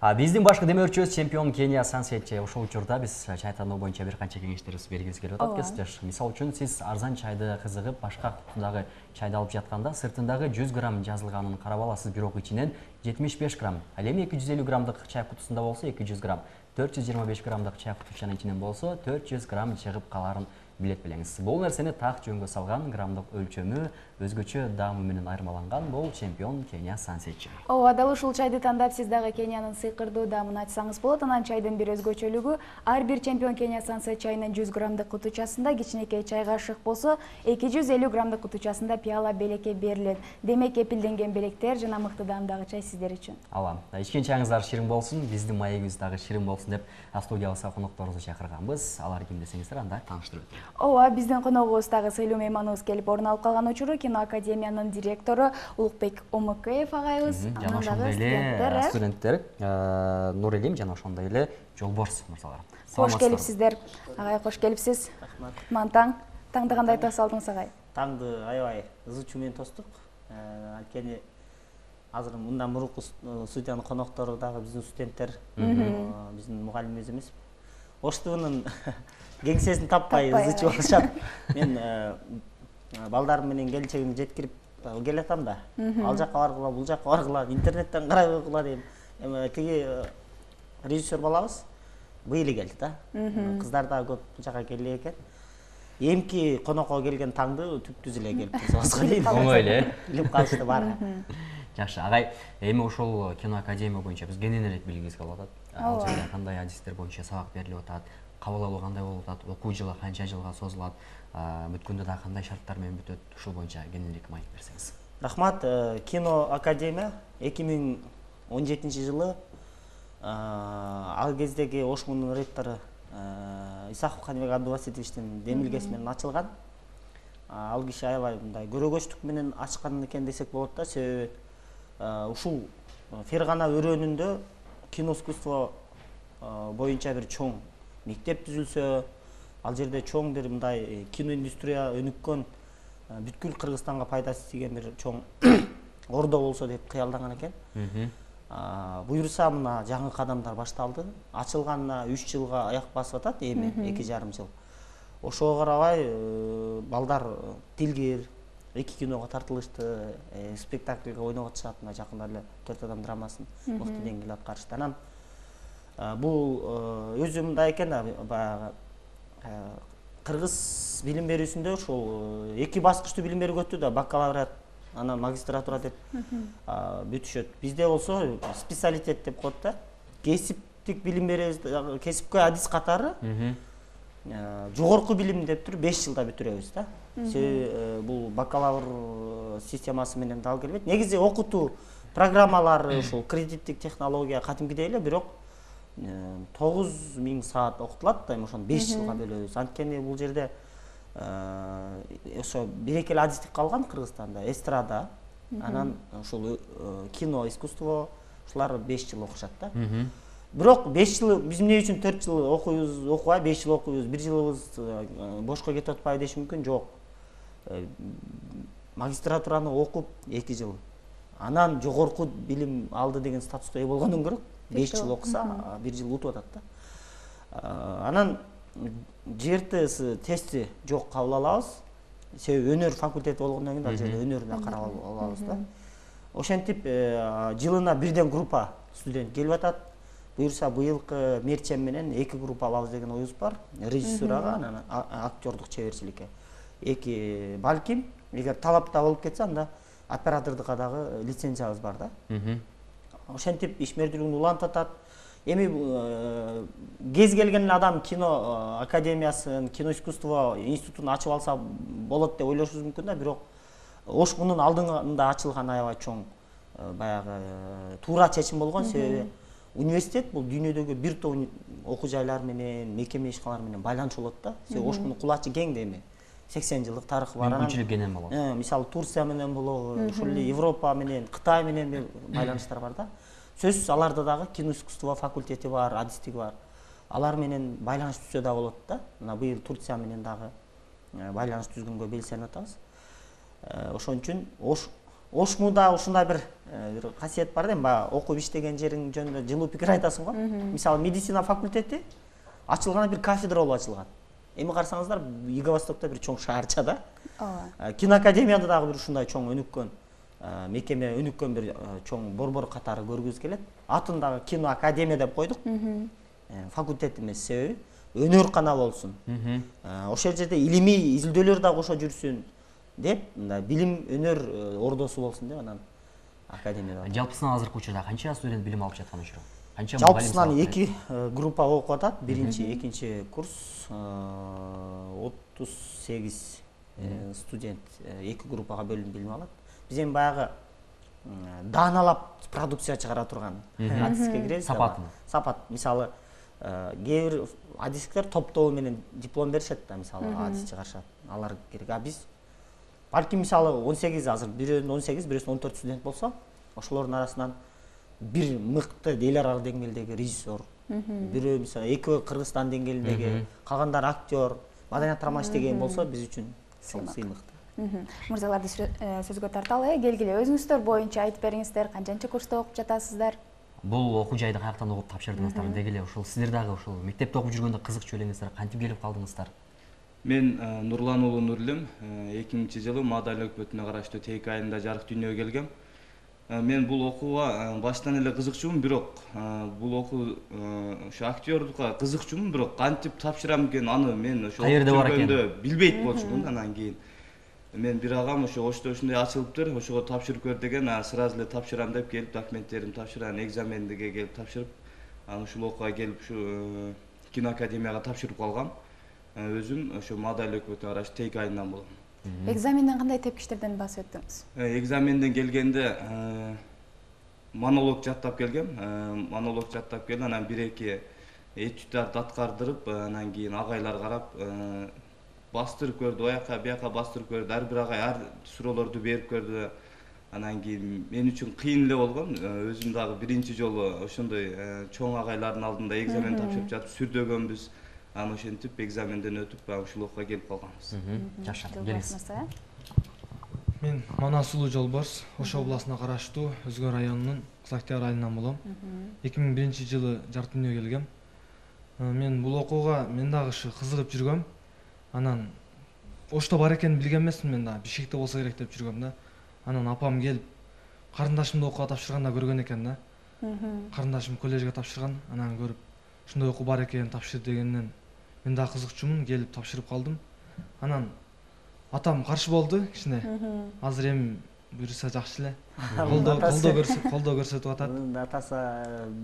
Биздин башкы демөөрчүбүз чемпион Кения Сансетчи. Ошол учурда биз чай тандоо боюнча бир канча кеңештерибизди бергибиз келип атат кесиптеш. Мисалы үчүн сиз арзан чайды кызыгып, башка кутудагы чайды алып жатканда сыртындагы 100 грамм жазылганын карап аласыз, бирок ичинен 75 грамм. Ал эми 250 граммдык чай кутусунда болсо 200 грамм, 425 граммдык чай кутучанын ичинен болсо 400 грамм чыгып каларын билет белеңиз. Бул нерсени так жөнгө салган, граммдык өлчөмү өзгөчө даамы менен айырмаланган бул чемпион Кения Сансетчи. Ооба, дал ушул чайды тандап сиз дагы Кениянын сыйкырдуу даамын ачсаңыз болот. Анан чайдын бир өзгөчөлүгү ар бир чемпион Кения Сансетчи чайынын 100 граммдык кутучасында кичинекей чай кашык болсо 250 граммдык кутучасында пиала белекке берилет. Демек кепилденген белектер жана мыкты даамдагы чай сиздер үчүн. Ала, ичкен чайыңыздар ширин болсун, биздин маегибиз дагы ширин болсун деп студиябызга конокторубузду чакырганбыз. Алар ким десеңиздер, анда тааныштырып өтөйүн. Ооба, биздин коногубуз дагы сыйлуу мейманыбыз келип орун алып калган учуру Кино Академиянын директору Улукбек Омукеев агайыбыз. Жана ошондой эле студенттер Нурелим жана ошондой эле Жолборс мырзалар. Кош келипсиздер. Агай, кош келипсиз. Рахмат. Мантаң. Таңды кандай тоса алдыңыз агай? Таңды аябай ызы чуу менен тостук. Анткени азыр мындан мурунку студиянын коноктору дагы биздин студенттер, биздин мугалимибиз эмес. Оштунун кеңсесин таппай ызы чуу болушат. Мен балдарым менен келинчегимди жеткирип келатам да. Ал жакка баргыла, бул жакка баргыла, интернеттен карап окула дейм. Тиги режиссер балабыз быйыл келди да. Кыздар да көп бул жака келе экен. Эмки конокко келген таңды түп-түз эле келип турсузга дейм. Оңой эле. Билип калышты баары. Жакшы, агай, эми ошол Кино Академия боюнча биз кененирээк билгибиз келип атат. Ал жерде кандай адистер боюнча сабак берилип атат, кабыл алуу кандай болуп атат, окуу жылы канча жылга созулат, бүткөндө да кандай шарттар менен бүтөт, ушул боюнча кененирээк маек берсеңиз. Рахмат. Кино Академия 2017 жылы ал кездеги Ош муунун ректору Исахов Каныбек Абдубаситовичтин демилгеси менен ачылган. Ал киши аябай мындай көрөгөчтүк менен ачкан экен десек болот да, себеби ушул Фергана өрөөнүндө кино искусство боюнча бир чоң мектеп түзүлсө, ал жерде чоң бир мындай кино индустрия өнүккөн, бүткүл Кыргызстанга пайдасы тийген бир чоң ордо болсо деп кыялданган экен. Буюрса мына жаңы кадамдар башталды. Ачылганына 3 жылга аяк басып атат, эми 2,5 жыл. Ошого карабай балдар тилгер, 2 киного тартылышты, спектакльге ойноп атышат, мына жакында эле 4 адам драмасын мыкты деңгээлде аткарышты. Анан бул өзү мындай экен, баягы кыргыз билим берүүсүндө ушул 2 баскычтуу билим берүү өттү да, бакалавриат, анан магистратура деп бүтүшөт. Бизде болсо специалитет деп коет да. Кесиптик билим беребиз, кесипкөй адис катары жогорку билим деп туруп 5 жылда бүтүрөбүз да. Себеби бул бакалавр системасы менен дал келбейт. Негизи окутуу программалары ушул кредиттик технология катимкидей эле, бирок 9000 саат окутулат да, ошону 5 жылга бөлөбүз. Анткени бул жерде ошо бир-эки эле адистик калган Кыргызстанда, эстрада, анан ушул кино искусство, ушулар 5 жыл окушат да. Бирок 5 жыл биз эмне үчүн 4 жыл окуйбуз, окубай 5 жыл окуйбуз, 1 жылыбыз бошко кетип атпайбы деш мүмкүн. Жок. Магистратураны окуп 2 жыл, анан жогорку билим алды деген статуска ээ болгондон көрө 5 жыл окуса 1 жыл утуп атат да. Анан ЖРТС тести жок кабыл алабыз. Себеби өнөр факультети болгондон кийин ал жерде өнөрүнө карап алабыз да. Ошентип жылына бирден группа студент келип атат. Буюрса быйылкы мерчем менен 2 группа алабыз деген оюбуз бар. Режиссурага, анан актёрдук чеберчиликке. 2 балким, эгер талапта болуп кетсе, анда оператордукка дагы лицензиябыз бар да. Ошентип ишмердүүлүгүн улантып атат. Эми кез келген адам кино академиясын, кино искусство институтун ачып алса болот деп ойлошубуз мүмкүн да, бирок Ош мунун алдыңда ачылган аябай чоң баягы туура чечим болгон. Себеби университет бул дүйнөдөгү бир топ окуу жайлар менен, мекеме ишканалар менен байланыш болот да. Себеби Ош мунун кулачы кең да, эми 80 жылдык тарыхы бар. Мүмкүнчүлүк кенен болот. Мисалы Турция менен болобу, ушул эле Европа менен, Кытай менен байланыштар бар да. Сөзсүз аларда дагы кино искусство факультети бар, адистиги бар. Алар менен байланыш түзсө да болот да. Мына быйыл Турция менен дагы байланыш түзгөнгө белсенип атабыз. Ошон үчүн Ош Ошмуда ушундай бир касиет бар да, баягы окуп иштеген жериң жөнүндө жылуу пикир айтасың го. Мисалы медицина факультети ачылганда бир кафедра болуп ачылган. Эми карасаңыздар, Юго-Востокто бир чоң шаарча да. Киноакадемияда дагы бир ушундай чоң өнүккөн мекеме, өнүккөн бир чоң борбор катары көргүбүз келет. Атын дагы киноакадемия деп койдук. Факультет эмес, себеби өнөр канал болсун. Ошол жерде илимий изилдөөлөр дагы кошо жүрсүн деп, мындай билим өнөр ордосу болсун деп анан академияда. Жалпысынан азыркы учурда канча студент билим алып жаткан учуру? Канча Жалпысынан 2 группа окуп атат. Биринчи, экинчи курс 38 студент 2 группага бөлүнүп билим алат. Биз эми баягы дааналап продукция чыгара турган адиске киребиз. Сапат. Мисалы, кээ бир адистиктер топтоо менен диплом беришет да, мисалы, адис чыгарышат. Алар керек. А биз балким мисалы 18 азыр бирөөнүн 18, бирөөсүнүн 14 студент болсо, ошолордун арасынан бир мыкты эл аралык деңгээлдеги режиссер, бирөө мисалы экөө Кыргызстан деңгээлиндеги, калгандары актер, маданият иштеген болсо биз үчүн чоң сыймыктуу. Мырзаларды сөзгө тарталы, келгиле өзүңүздөр боюнча айтып бериңиздер, канчанчы курста окуп жатасыздар? Бул окуу жайды каяктан окуп тапшырдыңыздар? Дегеле ушул сиздер дагы ушул мектепте окуп жүргөндө кызыкчу элеңиздер, кантип келип калдыңыздар? Мен Нурлан уулу Нурлем 2000-жылы Мадаля өкмөтүнө караштуу Тейк айында жарык дүйнөгө келгем. Мен бул окууга баштан эле кызыкчумун, бирок бул окуу ошо актерлукка кызыкчумун, бирок кантип тапшырам экен, аны мен ошо жүргөндө билбейт болчумун. Анан кийин мен бир агам ошо Ошто ушундай ачылыптыр, ошого тапшырып көр деген, сразу эле тапшырам деп келип документтеримди тапшырып, экзамендиге келип тапшырып, анан ушул окууга келип ушу киноакадемияга тапшырып калгам. Өзүм ошо Мадаля өкмөтүнө караштуу Тейк айынан болом. Экзаменден кандай тепкичтерден басып өттүңүз? Экзаменден келгенде монолог жаттап келгем. Анан 1-2 этюдтарды аткардырып, анан кийин агайлар карап, бастырып көрдү, бияка бастырып көрдү. Ар бир агай ар суроолорду берип көрдү. Анан кийин мен үчүн кыйын эле болгон. Өзүм дагы биринчи жолу ошондой чоң агайлардын алдында экзамен тапшырып жатып сүрдөгөнбүз. Анан ошентип экзаменден өтүп, ушул окууга келип калганбыз. Жакшы, келиңиз. Мен Манасулуу Жолбарс, Ош областына караштуу Өзгө районунун Кызактер айылынан болом. 2001-жылы жарык дүйнөгө келгем. Мен бул окууга мен дагы кызыгып жүргөм. Анан Ошто бар экенин билген эмесмин, мен дагы Бишкекте болсо керек деп жүргөм да. Анан апам келип, карындашымды окууга тапшырганда көргөн экен да. Карындашым коллежге тапшырган, анан көрүп, ушундай окуу бар экен, тапшыр дегенден мен дагы кызыкчумун, келип тапшырып калдым. Анан атам каршы болду кичине. Азыр эми буюрса жакшы эле. Колдоо көрсөтүп атат. Атасы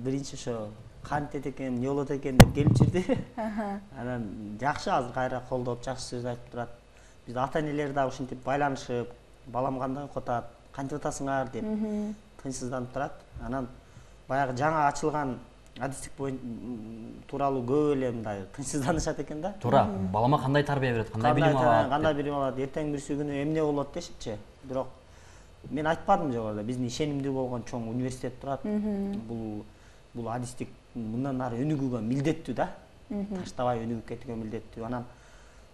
биринчи ошо кантет экен, эмне болот экен деп келип жүрдү. Анан жакшы, азыр кайра колдоп жакшы сөз айтып турат. Биз ата-энелер дагы ушинтип байланышып, балам кандай окуп атат, кантип атасыңар деп тынчсызданып турат. Анан баягы жаңа ачылган адистик тууралуу көп эле мындай тынчсызданышат экен да. Туура, балама кандай тарбия берет, кандай билим алат? Кандай билим алат, эртең бирси күнү эмне болот дешипчи. Бирок мен айтпадым жогоруда, биздин ишенимдүү болгон чоң университет турат. Бул адистик мындан ары өнүгүүгө милдеттүү да. Таштабай өнүгүп кетүүгө милдеттүү. Анан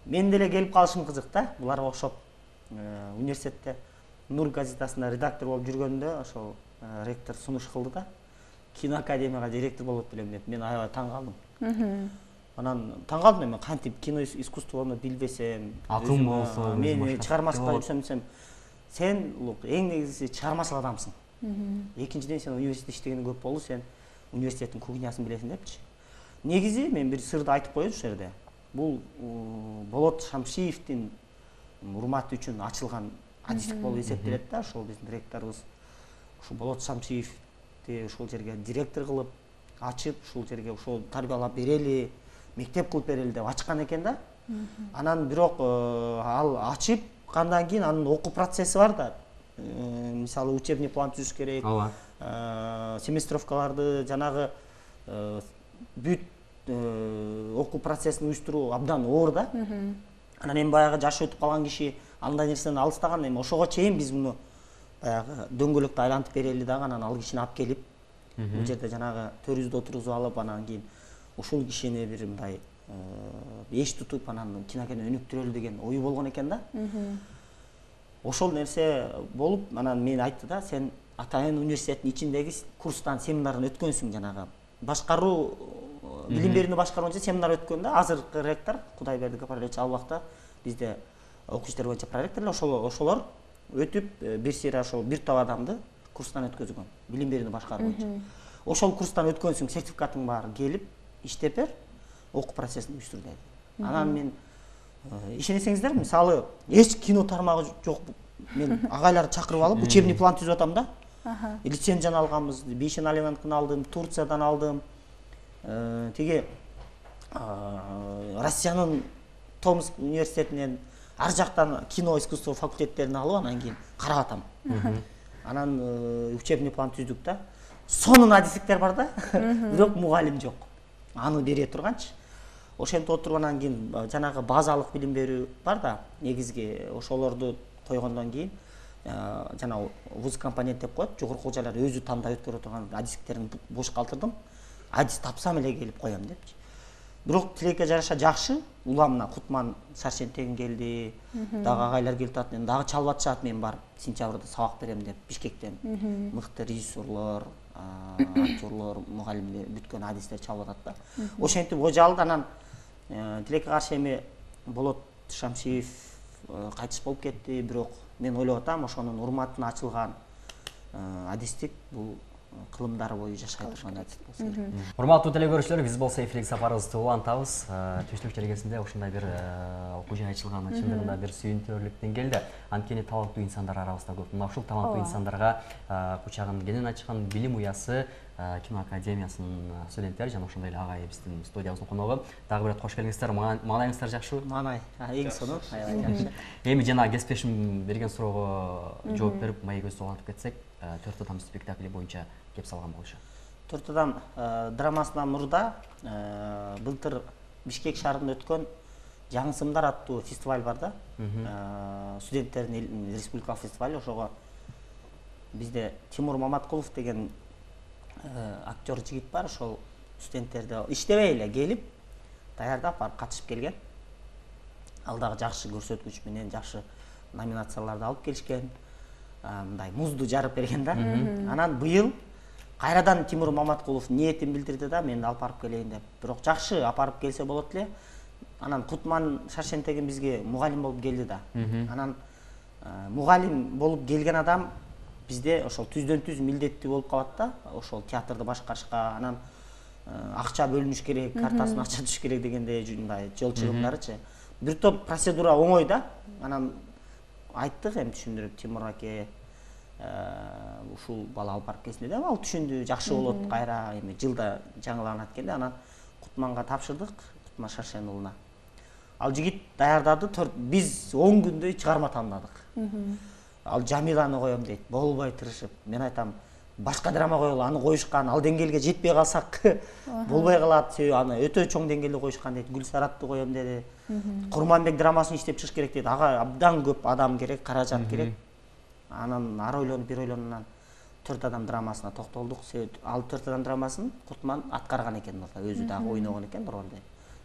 мен деле келип калышым кызык да. Буларга окшоп университетте Нур газетасында редактор болуп жүргөндө ошол ректор сунуш кылды да. Киноакадемияга директор болот белем деп. Мен аябай таң калдым. Анан таң калдым, мен кантип кино искусствону билбесем, акым болсо, мен чыгармачылыкка жүрсөм десем, сен эң негизгиси чыгармачыл адамсың. Экинчиден сен университетте иштегениң көп болду, сен университеттин кухнясын билесиң депчи. Негизи мен бир сырды айтып коеюн ушул жерде. Бул Болот Шамшиевдин урматы үчүн ачылган адистик болуп эсептелет да. Ошол биздин ректорубуз ушул Болот Шамшиевди ушул жерге директор кылып ачып, ушул жерге ошол тарбиялап берели, мектеп кылып берели деп ачкан экен да. Анан бирок ал ачып кандан кийин анын окуу процесси бар да. Мисалы учебный план түзүш керек. Семестровкаларды жанагы бүт окуу процессин уюштуруу абдан оор да. Анан эми баягы жашы өтүп калган киши андай нерседен алыстаган, эми ошого чейин биз муну баягы дөңгөлөктү айлантып берели дагы, анан ал кишини алып келип бул жерде жанагы төрүбүздө отургузуп алып, анан кийин ушул кишини бир мындай эч тутуп анан кинокени өнүктүрөлү деген ою болгон экен да. ошол нерсе болуп анан мен айтты да, сен Атайын университеттин ичиндеги курстан семинарын өткөнсүң, жанагы башкаруу билим берүүнү башкаруу боюнча семинар өткөндө азыркы ректор Кудайберди Гапарович ал убакта бизде окуу иштери боюнча проректорлор ошолор өтүп бир сыйра ошол бир топ адамды курстан өткөзгөн билим берүүнү башкаруу боюнча. Ошол курстан өткөнсүң, сертификатың бар, келип иштеп бер, окуу процессин уюштур деди. Анан мен ишенесеңиздер, мисалы эч кино тармагы жок, мен агайларды чакырып алып учебный план түзүп атам да. Лицензияны алганбыз, Бейшеналинанкын алдым, Турциядан алдым. Тиги Россиянын Томск университетинен ар жактан кино искусство факультеттерин алып анан кийин карап атам. Анан учебный план түздүк да. Сонун адистиктер бар да, бирок мугалим жок. Аны бере турганчы. Ошентип отуруп анан кийин жанагы базалык билим берүү бар да, негизги ошолорду койгондон кийин жана вуз компонент деп коет, жогорку окуу жайлар өзү тандап өткөрө турган адистиктерин бош калтырдым. Адис тапсам эле келип коем депчи. Бирок тилекке жараша жакшы, уламына Кутман Шаршентеген келди, дагы агайлар келип атат, мен дагы чалып атышат, мен барып сентябрда сабак берем деп Бишкектен. Мыкты режиссерлор, актерлор, мугалимдер, бүткөн адистер чалып атат да. Ошентип ожалды. Анан тилекке каршы эми Болот Шамшиев кайтыш болуп кетти, бирок мен ойлоп атам, ошонун урматына ачылган адистик бул кылымдары бою жашай турган адистик болсо керек. Урматтуу телекөрүүчүлөр, биз болсо эфирдик сапарыбызды улантабыз. Түштүк жергесинде ушундай бир окуу жай ачылган, чындыгында бир сүйүнтүрлүктөн келди. Анткени таланттуу инсандар арабызда көп. Мына ушул таланттуу инсандарга кучагын кенен ачкан билим уясы кино академиясынын студенттери жана ошондой эле агай биздин студиябыздын коногу. Дагы бир рет кош келиңиздер. Маанайыңыздар жакшыбы? Маанай, эң сонун, аябай жакшы. Эми жана кесиптешим берген суроого жооп берип, маегибизди улантып кетсек, 4 адам спектакли боюнча кеп салган болушу. 4 адам драмасынан мурда былтыр Бишкек шаарында өткөн Жаңы сымдар аттуу фестиваль бар да. Студенттердин республикалык фестиваль, ошого бизде Тимур Маматкулов деген актер жигит бар, ошол студенттерди иштебей эле келип даярдап барып катышып келген. Ал дагы жакшы көрсөткүч менен жакшы номинацияларды алып келишкен. Мындай музду жарып берген да. Анан быйыл кайрадан Тимур Маматкулов ниетин билдирди да, мен алып барып келейин деп. Бирок жакшы апарып келсе болот эле. Анан Кутман Шаршентеген бизге мугалим болуп келди да. Анан мугалим болуп келген адам бизде ошол түздөн-түз милдеттүү болуп калат да, ошол театрды башкарышка. Анан акча бөлүнүш керек, картасына акча түшүш керек дегендей мындай жол чыгымдарычы. Бир топ процедура оңой да. Анан айттык, эми түшүндүрүп, Тимур аке ушул бала алып барып келсин деп, ал түшүндү, жакшы болот, кайра эми жылда жаңыланат экенде. Анан Кутманга тапшырдык, Кутман Шаршен уулуна. Ал жигит даярдады, биз 10 күндөй чыгарма тандадык. Ал Жамиланы коем дейт, болбой тырышып. Мен айтам, башка драма коелу, аны коюшкан, ал деңгээлге жетпей калсак болбой калат, себеби аны өтө чоң деңгээлде коюшкан дейт. Гүлсаратты коем деди. Курманбек драмасын иштеп чыгыш керек дейт. Ага абдан көп адам керек, каражат керек. Анан ар ойлонуп, бир ойлонуп 4 адам драмасына токтолдук. Ал 4 адам драмасын Кутман аткарган экен, өзү дагы ойногон экен ролду.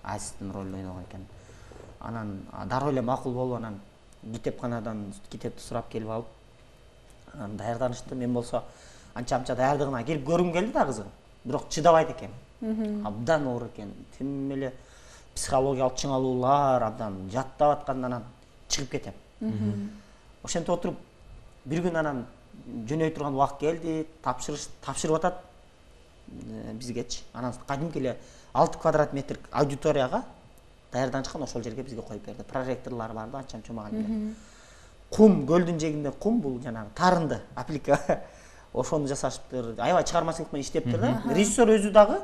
Асистин ролду ойногон экен. Анан дароо эле макул болуп, анан китепканадан китепти сурап келип алып, анан даярданышты. Мен болсо анча-мынча даярдыгына келип көргүм келди да кызыгып. Бирок чыдабайт экен. Абдан оор экен. Тим эле психологиялык чыңалуулар, абдан жаттап атканда анан чыгып кетем. Ошентип отуруп бир күн анан жөнөй турган убакыт келди, тапшырып атат бизгечи. Анан кадимки эле 6 квадрат метр аудиторияга даярданышкан, ошол жерге бизге коюп берди. Проректорлор бар да, анча-мынча мугалимдер. Кум, көлдүн жээгинде кум, бул жанагы тарынды, аплика. Ошону жасашыптыр. Аябай чыгармачылык менен иштептир да. Режиссер өзү дагы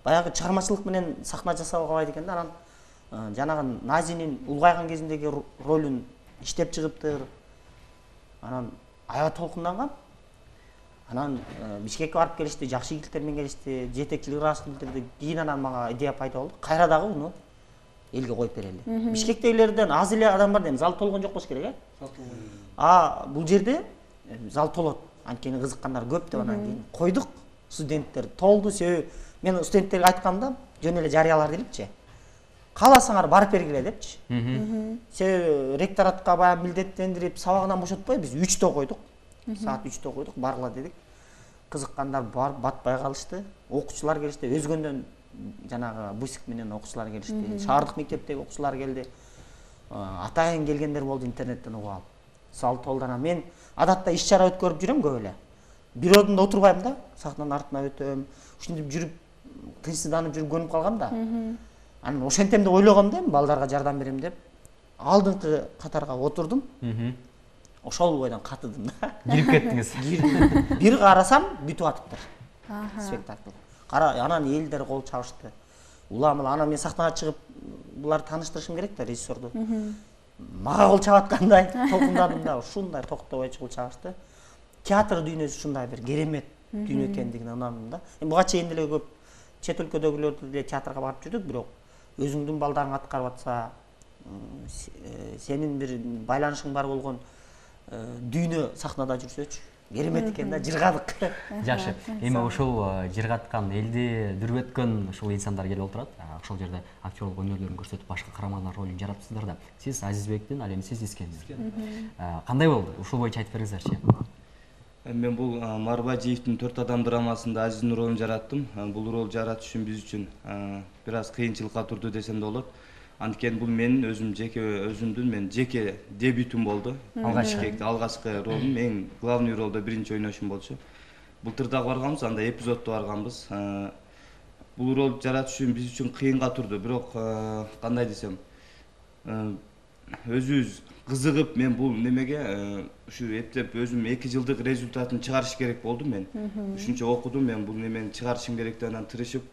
баягы чыгармачылык менен сахна жасап албайт экен да. Анан жанагы Назинин улгайган кезиндеги ролун иштеп чыгыптыр. Анан аябай толкунданган. Анан Бишкекке барып келишти, жакшы ийгиликтермен келишти, жетекчилик ыраазычылык билдирди. Кийин анан мага идея пайда болду. Кайра дагы уну элге коюп берели. Бишкектегилерден аз эле адам бар дейм, зал толгон жок болуш керек, бул жерде зал толот. Анткени кызыккандар көп деп анан кийин койдук. Студенттер толду, себеби мен студенттерге айткамда жөн эле жарыялар делипчи. кааласаңар барып бергиле депчи. Себеби ректоратка баягы милдеттендирип сабагынан бошотпой биз 3-тө койдук. Саат 3-тө койдук, баргыла дедик. Кызыккандар барып батпай калышты. Окуучулар келишти, өзгөндөн жанагы бусик менен окуучулар келишти. Шаардык мектептеги окуучулар келди. Атайын келгендер болду интернеттен угуп алып. Салтолдан мен адатта иш-чара өткөрүп жүрөм көп эле. Бир ордунда отурбайм да, сахнанын артына өтөм. Ушинтип жүрүп, тынчсызданып жүрүп көнүп калгам да. Анан ошентем деп ойлогом да, балдарга жардам берем деп. Алдыңкы катарга отурдум. Ошол бойдон катыдым да. Кирип кеттиңиз. Бир карасам бүтүп атыптыр. Спектакль. Анан элдер кол чабышты. Уламыл, анан мен сахнага чыгып, буларды тааныштырышым керек да режиссерду. Мага кол чабаткандай толкундадым да, ушундай токтобой кол чабышты. Театр дүйнөсү ушундай бир керемет дүйнө экендигине ынандым да. Буга чейин деле көп чет өлкөдөгүлөр деле театрга барып жүрдүк, бирок өзүңдүн балдарың аткарып атса, сенин бир байланышың бар болгон дүйнө сахнада жүрсөчү керемет экен да, жыргадык. Жакшы. Эми ошол жыргаткан, элди дүрбөткөн ушул инсандар келип отурат. Ошол жерде актерлук өнөрлөрүн көрсөтүп, башка каармандар ролун жаратыпсыздар да. Сиз Азизбектин, ал эми сиз Искендир. Кандай болду? Ушул боюнча айтып бериңизерчи. Мен бул Марбажиевдин 4 адам драмасында Азиздин ролун жараттым. Бул ролду жаратыш үчүн биз үчүн бир аз кыйынчылыкка турду десем да болот. Анткени бул менин өзүмдүн жеке дебютум болду. Алгачкы ролум, эң главный ролдо биринчи ойношум болчу. Былтыр дагы барганбыз, анда эпизоддо барганбыз. Бул ролду жаратыш үчүн биз үчүн кыйынга турду, бирок кандай десем, өзүбүз кызыгып, мен бул немеге ушу эптеп өзүм 2 жылдык результатын чыгарыш керек болду мен. Ушунча окудум, мен бул немени чыгарышым керек деп анан тырышып,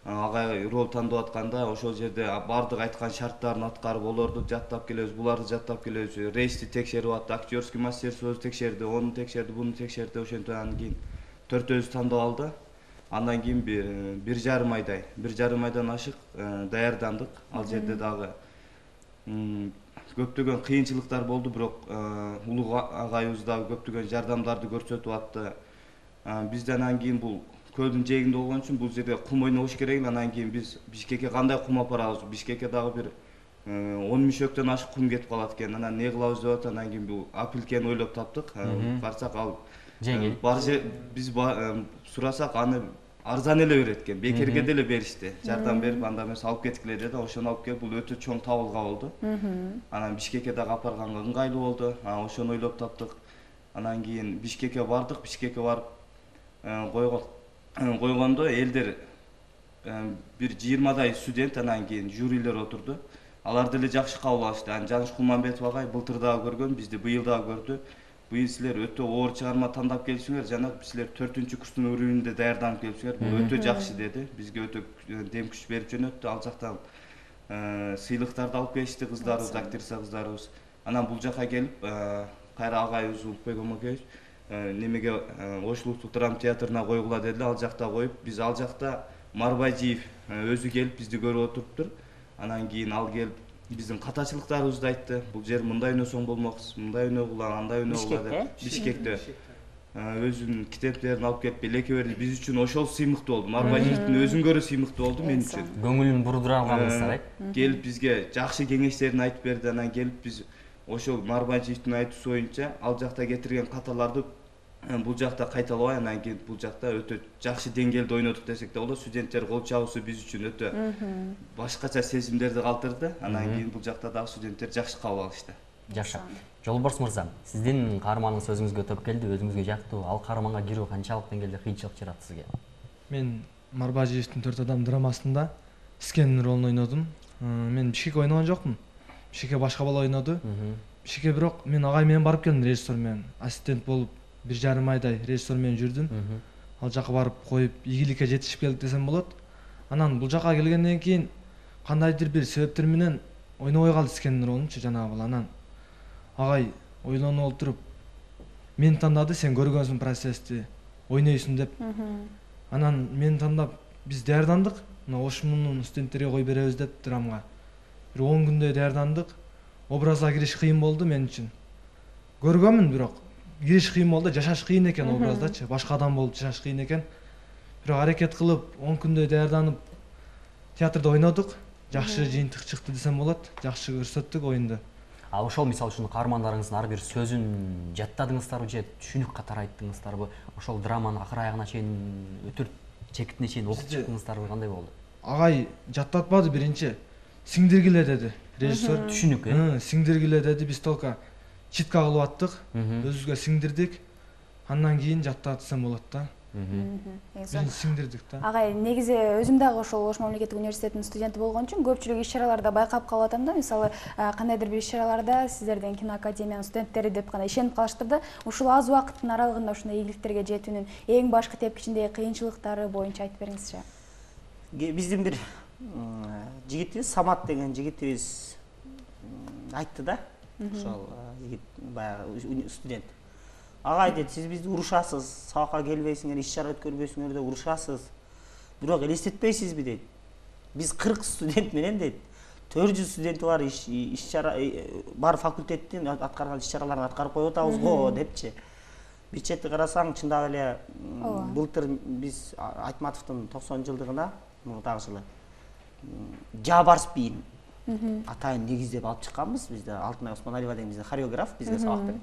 агай рол тандап атканда ошол жерде бардык айткан шарттарын аткарып, олорду жаттап келебиз, буларды жаттап келебиз, рейсти текшерип атты, актерский мастерствосу текшерди, ону текшерди, буну текшерди, ошентип анан кийин 4өзү тандап алды. Андан кийин 1,5 айдан ашык даярдандык. Ал жерде дагы көптөгөн кыйынчылыктар болду, бирок улуг агайыбыз дагы көптөгөн жардамдарды көрсөтүп атты. Бизде анан кийин бул көлдүн жээгинде болгон үчүн бул жерде кум ойнобуш керек. Анан кийин биз Бишкекке кандай кум апарабыз? Бишкекке дагы бир 10 мишөктөн ашык кум кетип калат экен. Анан не кылабыз деп атып, анан кийин бул апилкени ойлоп таптык. Барсак ал жеңил. Биз сурасак аны арзан эле берет экен. Бекерге деле беришти. Жардам берип, анда эмес алып кеткиле деди. Ошону алып келип, бул өтө чоң табылга болду. Анан Бишкекке дагы апарганга ыңгайлуу болду. Ошону ойлоп таптык. Анан кийин Бишкекке бардык. Бишкекке барып койгондо элдер бир 20дай студент, анан кийин жюрилер отурду. Алар деле жакшы кабыл алышты. Анан Жаныш Кулманбетов агай былтыр дагы көргөн, бизди быйыл дагы көрдү. Быйыл силер өтө оор чыгарма тандап келипсиңер, жана силер 4-курстун уровенинде даярданып келипсиңер. Бул өтө жакшы деди. Бизге өтө дем күч берип жөнөттү. Ал жактан сыйлыктарды алып келишти кыздарыбыз, актриса кыздарыбыз. Анан бул жака келип, кайра агайыбыз Улукбек Омакеевич немеге Ош улуттук драма театрына койгула дедилер. Ал жакта коюп, биз ал жакта Марбажиев өзү келип бизди көрүп отуруптур. Анан кийин ал келип биздин катачылыктарыбызды айтты. Бул жер мындай ойносоң болмоксуз, мындай ойногула, андай ойногула деп. Бишкекте өзүнүн китептерин алып келип элеке берди. Биз үчүн ошол сыймыктуу болду. Марбажиевдин өзүн көрө сыймыктуу болду мен үчүн. Көңүлүн бурдура алганыңыздар, келип бизге жакшы кеңештерин айтып берди. Анан келип биз ошол Марбажиевдин айтуусу боюнча ал жакта кетирген каталарды бул жакта кайталабай, анан кийин бул жакта өтө жакшы деңгээлде ойнодук десек да болот. Студенттер кол чабуусу биз үчүн өтө башкача сезимдерди калтырды. Анан кийин бул жакта дагы студенттер жакшы кабыл алышты. Жакшы. Жолборс мырза, сиздин каарманыңыз өзүңүзгө төп келди, өзүңүзгө жактуу. Ал каарманга кирүү канчалык деңгээлде кыйынчылык жаратты сизге? Мен Марбажиевдин 4 адам драмасында Искендин ролун ойнодум. Мен Бишкекке ойногон жокмун. Бишкекке башка бала ойноду. Бишкекке бирок мен агай менен барып келдим, режиссер менен. Ассистент болуп 1,5 айдай режиссер менен жүрдүм. Ал жака барып коюп, ийгиликке жетишип келдик десем болот. Анан бул жака келгенден кийин кандайдыр бир себептер менен ойнобой калды Искендин ролунчу жанагы бала. Анан агай ойлонуп отуруп мени тандады, сен көргөнсүң процессти, ойнойсуң деп. Анан мени тандап биз даярдандык. Мына Ошмунун студенттерге кой беребиз деп драмага. Бир 10 күндөй даярдандык. Образга кириш кыйын болду мен үчүн. Көргөнмүн, бирок кириш кыйын болду, жашаш кыйын экен образдачы. Башка адам болуп жашаш кыйын экен. Бирок аракет кылып 10 күндөй даярданып театрда ойнодук. жакшы жыйынтык чыкты десем болот. Жакшы көрсөттүк оюнду. А ошол мисалы үчүн каармандарыңыздын ар бир сөзүн жаттадыңыздарбы же түшүнүк катары айттыңыздарбы? Ошол драманы акыр аягына чейин өтүр чекитине чейин окуп чыктыңыздарбы, кандай болду? Агай жаттатпады биринчи. Сиңдиргиле деди режиссер. Түшүнүк, Сиңдиргиле деди. Биз только читка кылып аттык. Өзүбүзгө сиңдирдик. Андан кийин жаттатсам болот да. Биринчи сиңдирдик да. Агай, негизи өзүм дагы ошол Ош мамлекеттик университетинин студенти болгон үчүн көпчүлүк иш-чараларда байкап калып атам да. Мисалы, кандайдыр бир иш-чараларда сиздердин киноакадемиянын студенттери деп гана ишенип калыштыр да. Ушул аз убакыттын аралыгында ушундай ийгиликтерге жетүүнүн эң башкы тепкичиндеги кыйынчылыктары боюнча айтып бериңизчи. Биздин бир жигитибиз, Самат деген жигитибиз айтты да. Ошол жигит баягы студент. Агай дейт, сиз бизди урушасыз, сабакка келбейсиңер, иш-чара өткөрбөйсүңөр деп урушасыз. Бирок элестетпейсизби дейт. Биз 40 студент менен дейт, 400 студенти бар иш-чара бар факультеттин аткарган иш-чараларын аткарып коюп атабыз го депчи. Бир чети карасаң, чындап эле былтыр биз Айтматовдун 90-жылдыгына, мурдагы жылы Жабарс бийин атайын негиздеп алып чыкканбыз. Бизде Алтынай Осмоналиева деген бизде хореограф, бизге сабак берет.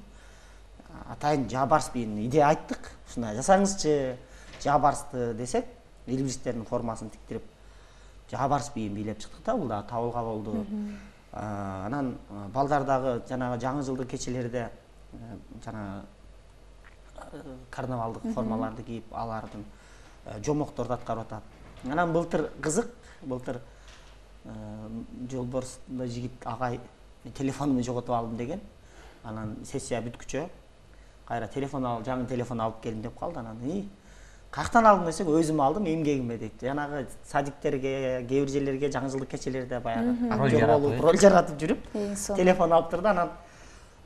Атайын Жабарс бийин идея айттык. Ушундай жасаңызчы Жабарсты десек, илбирстердин формасын тиктирип Жабарс бийин бийлеп чыктык да, бул да табылга болду. Анан балдар дагы жанагы жаңы жылдык кечелерде жана карнавалдык формаларды кийип, алардын жомокторду аткарып атат. Анан былтыр кызык, былтыр Жолборсунда жигит агай телефонумду жоготуп алдым деген. Анан сессия бүткүчө кайра жаңы телефон алып келдим деп калды. Анан каяктан алдым десек, өзүм алдым, эмгегиме дейт. Жанагы садиктерге, кээ бир жерлерге жаңы жылдык кечелерде баягы роль жаратып жүрүп, телефон алып турду. Анан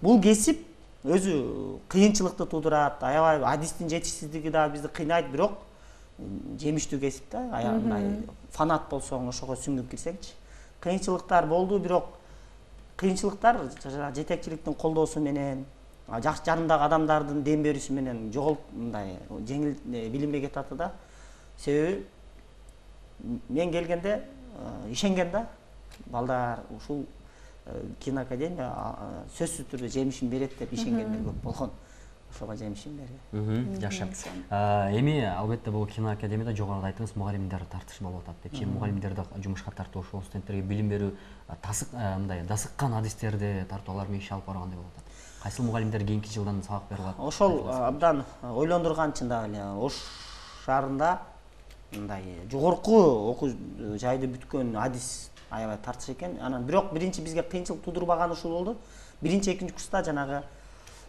бул кесип өзү кыйынчылыкты туудурат, аябай адистин жетишсиздиги да бизди кыйнайт, бирок жемиштүү кесип да. Аягында фанат болсоң, ошого сүңгүп кирсеңчи. Кыйынчылыктар болду, бирок кыйынчылыктар жетекчиликтин колдоосу менен, жакшы жанымдагы адамдардын дем берүүсү менен мындай жеңил билинбей кетат да. Себеби мен келгенде ишенген да, балдар ушул киноакадемия сөзсүз түрдө жемишин берет деп ишенгендер көп болгон. Ошого жемишин берди. Жакшы. Эми албетте бул киноакадемияда жогоруда айттыңыз, мугалимдер тартышы болуп атат деп. Мугалимдерди жумушка тартуу, ошол студенттерге билим берүү, мындай дасыккан адистерди тартуу, алар менен иш алып баргандай болуп атат. Кайсыл мугалимдер кийинки жылдан сабак берип алат? Ошол абдан ойлондурган, чындап эле Ош шаарында мындай жогорку окуу жайды бүткөн адис аябай тартыш экен. Анан бирок биринчи бизге кыйынчылык туудурбаганы ушул болду. Биринчи, экинчи курста жанагы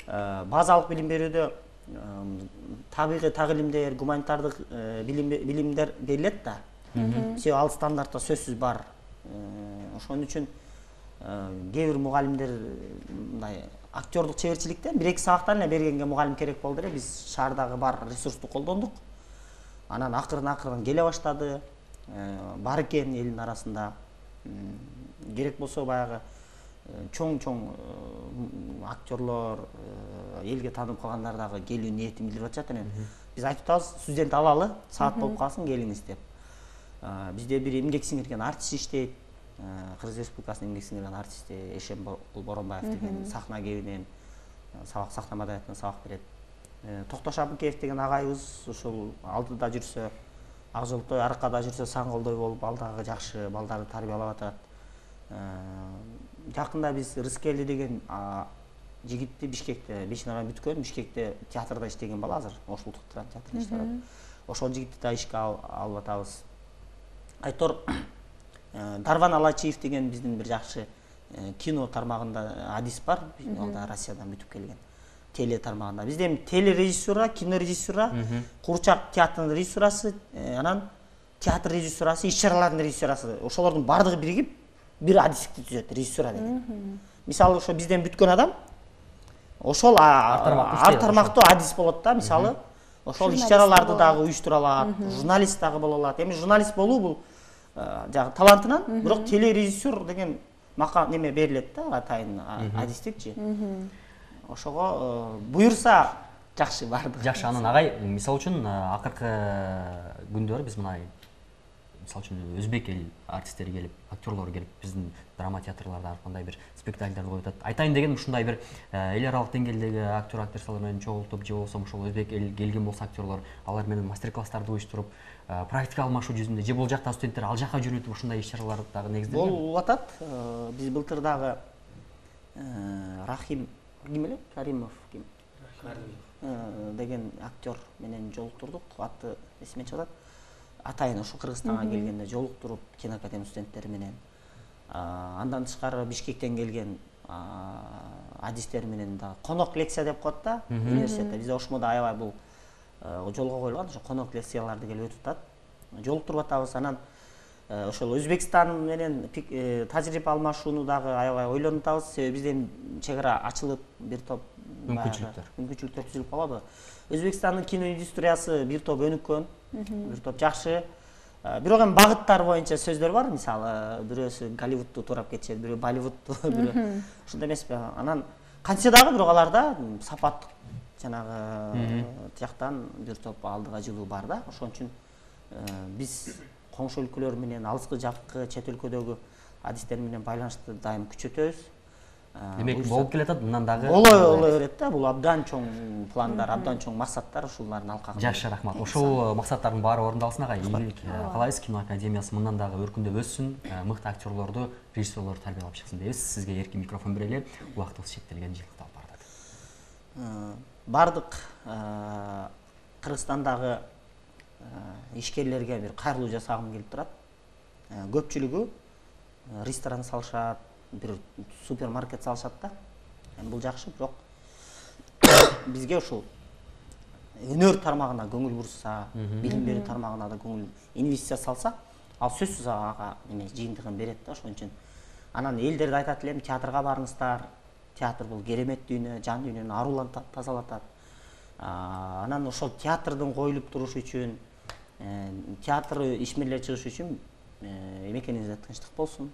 базалык билим берүүдө табигый тагылимдер, гуманитардык билимдер берилет да. Себеби ал стандартта сөзсүз бар. Ошон үчүн кээ бир мугалимдер мындай актёрдук чеберчиликтен 1-2 сабактан эле бергенге мугалим керек болду эле. Биз шаардагы бар ресурсту колдондук. Анан акырын келе баштады. Бар экен элдин арасында. Керек болсо баягы чоң актерлор, элге таанып калгандар дагы келүү ниетин билдирип атышат. Биз айтып атабыз, студент алалы, саат болуп калсын, келиңиз деп. Бизде бир эмгек сиңирген артист иштейт. Кыргыз Республикасынын эмгек сиңирген артисти Эшембол Боронбаев деген сахна кебинен сахна маданиятынан сабак берет. Токтош Абыкеев деген агайыбыз ушул алдыда жүрсө ак жолтой, аркада жүрсө саң колдой болуп, алдагы жакшы балдарды тарбиялап атат. Жакында биз Рыскели деген жигитти Бишкекте, 5 ноябрь бүткөн, Бишкекте театрда иштеген бала, азыр Ош улуттук театрда иштеп атат. Ошол жигитти да ишке алып атабыз. Айтор Дарван Алачиев деген биздин бир жакшы кино тармагында адис бар. Ал да Россиядан бүтүп келген. Теле тармагында. Бизде эми телережиссура, кинорежиссура, Курчак театрынын режиссурасы, анан театр режиссурасы, иш-чаралардын режиссурасы. Ошолордун бардыгы биригип бир адистикти түзөт, режиссура деген. Мисалы ошо бизден бүткөн адам ошол ар тармактуу адис болот да. Мисалы ошол иш-чараларды дагы уюштура алат, журналист дагы боло алат. Эми журналист болуу бул жагы талантынан, бирок телережиссер деген макам неме берилет да, атайын адистикчи. Ошого буюрса жакшы барды. Жакшы, анан агай, мисалы үчүн акыркы күндөр биз мына мисалы үчүн өзбек эл артисттери келип, актерлор келип биздин драма театрларда ар кандай бир спектакльдерди коюп атат. Айтайын дегеним ушундай бир эл аралык деңгээлдеги актер актрисалар менен чогултуп, же болбосо ошол өзбек эл келген болсо актерлор, алар менен мастер-класстарды уюштуруп, практика алмашуу жүзүндө же бул жакта студенттер ал жака жөнөтүп ушундай иш-чаралар дагы негизделген. Болуп атат. Биз былтыр дагы Рахим ким эле? Каримов ким? Деген актер менен жолуктурдук. Аты эсиме чыгат. Атайын ошо Кыргызстанга келгенде жолуктуруп киноакадемия студенттери менен. Андан тышкары Бишкектен келген адистер менен да конок лекция деп коет да университетте. Бизде Ошмодо аябай бул жолго коюлган, ошо конок лекцияларды келип өтүп атат. Жолуктуруп атабыз. Анан ошол Өзбекстан менен тажрыйба алмашууну дагы аябай ойлонуп атабыз. Себеби бизден чек ара ачылып, бир топ мүмкүнчүлүктөр түзүлүп калады. Өзбекстандын кино индустриясы бир топ өнүккөн, бир топ жакшы. Бирок эми багыттар боюнча сөздөр бар. Мисалы, бирөөсү Голливудту туурап кетишет, бирөө Болливудту, бирөө ошондой эмеспи. Анан кантсе дагы бирок аларда сапаттык жанагы жактан бир топ алдыга жылуу бар да. Ошон үчүн биз коңшу өлкөлөр менен, алыскы жаккы чет өлкөдөгү адистер менен байланышты дайым күчөтөбүз. Демек болуп келатат, мындан дагы боло берет да. Бул абдан чоң пландар, абдан чоң максаттар, ушулардын алкагында. Жакшы, рахмат. Ошол максаттардын баары орундалсын агай. Ийгилик каалайбыз. Кино академиясы мындан дагы өркүндөп өссүн, мыкты актерлорду, режиссерлорду тарбиялап чыксын дейбиз. Сизге эркин микрофон берели. Убактыбыз чектелген, жылкытып бардык. Бардык Кыргызстандагы ишкерлерге бир кайрылуу жасагым келип турат. Көпчүлүгү ресторан салышат, бир супермаркет салышат да. Бул жакшы, бирок бизге ушул өнөр тармагына көңүл бурса, билим берүү тармагына да көңүл инвестиция салса, ал сөзсүз ага эме жыйынтыгын берет да. Ошон үчүн анан элдерде айтат элем, театрга барыңыздар. Театр бул керемет дүйнө, жан дүйнөнү арулантат, тазалатат. Анан ошол театрдын коюлуп турушу үчүн, театр ишмерлери чыгышы үчүн эмекенибизде тынчтык болсун.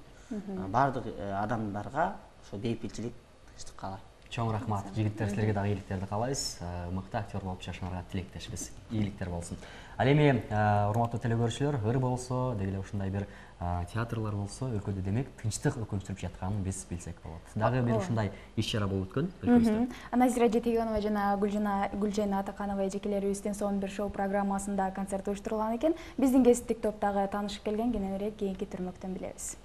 Бардык адамдарга ошо бейпилчилик, тынчтык каалайм. Чоң рахмат. Жигиттер, силерге дагы ийгиликтерди каалайбыз. Мыкты актер болуп жашаганга тилектешпиз. Ийгиликтер болсун. Ал эми урматтуу телекөрүүчүлөр, ыр болсо, деги эле ушундай бир театрлар болсо, өлкөдө демек тынчтык өкүнчтүрүп жатканын биз билсек болот. Дагы бир ушундай иш-чара болуп өткөн өлкөбүздө. Назира Жетегенова жана Гүлжайна Атаканова эжекелерибиздин сонун бир шоу программасында концерт уюштурулган экен. Биздин кесиптик топтогу таанышып келген кененирээк кийинки түрмөктөн билебиз.